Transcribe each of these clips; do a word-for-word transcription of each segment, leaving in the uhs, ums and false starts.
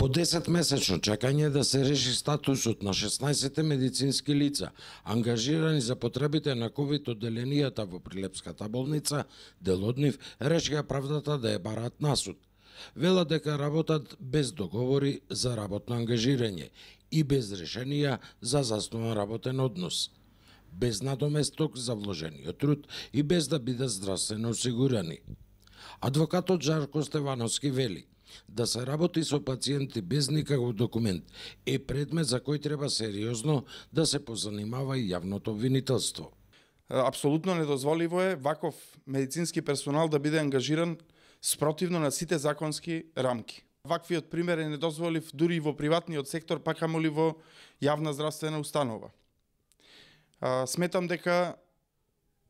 По десет месечно чекање да се реши статусот на шеснаесет медицински лица, ангажирани за потребите на ковид одделенијата во Прилепската болница, дел од нив решија правдата да ја бараат на суд. Велат дека работат без договори за работно ангажирање и без решенија за заснован работен однос, без надоместок за вложениот труд и без да бидат здравствено осигурани. Адвокатот Жарко Стевановски вели да се работи со пациенти без никаков документ е предмет за кој треба сериозно да се позанимава и јавното обвинителство. Апсолутно недозволиво е ваков медицински персонал да биде ангажиран спротивно на сите законски рамки. Ваквиот пример е недозволив дури и во приватниот сектор, па камоли во јавна здравствена установа. Сметам дека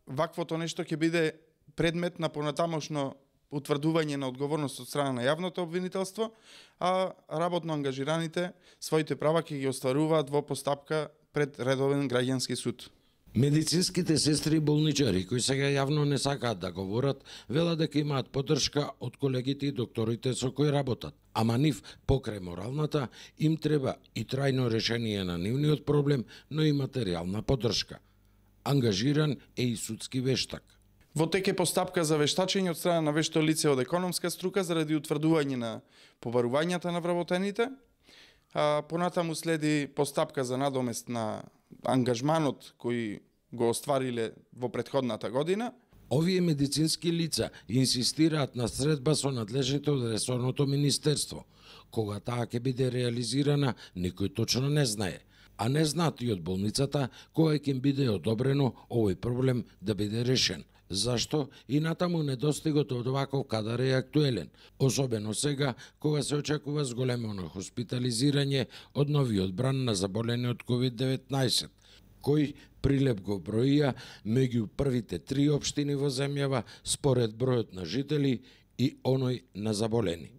ваквото нешто ќе биде предмет на понатамошно утврдување на одговорност од страна на јавното обвинителство, а работно ангажираните своите права ќе ги остваруваат во постапка пред редовен граѓански суд. Медицинските сестри и болничари кои сега јавно не сакаат да говорат, велат дека имаат поддршка од колегите и докторите со кои работат, ама нив покрај моралната им треба и трајно решение на нивниот проблем, но и материјална поддршка. Ангажиран е и судски вештак. Во тек е постапка за вештачење од страна на вешто лице од економска струка заради утврдување на побарувањата на вработените, а понатаму следи постапка за надомест на ангажманот кој го оствариле во претходната година. Овие медицински лица инсистираат на средба со надлежните од ресорното министерство. Кога таа ќе биде реализирана, никој точно не знае, а не знаат и од болницата кога ќе им биде одобрено овој проблем да биде решен. Зашто и натаму недостигот од оваков кадар е актуелен, особено сега кога се очекува зголемено хоспитализирање од новиот бран на заболени од ковид деветнаесет, кој Прилеп го броија меѓу првите три општини во земјава според бројот на жители и оној на заболени.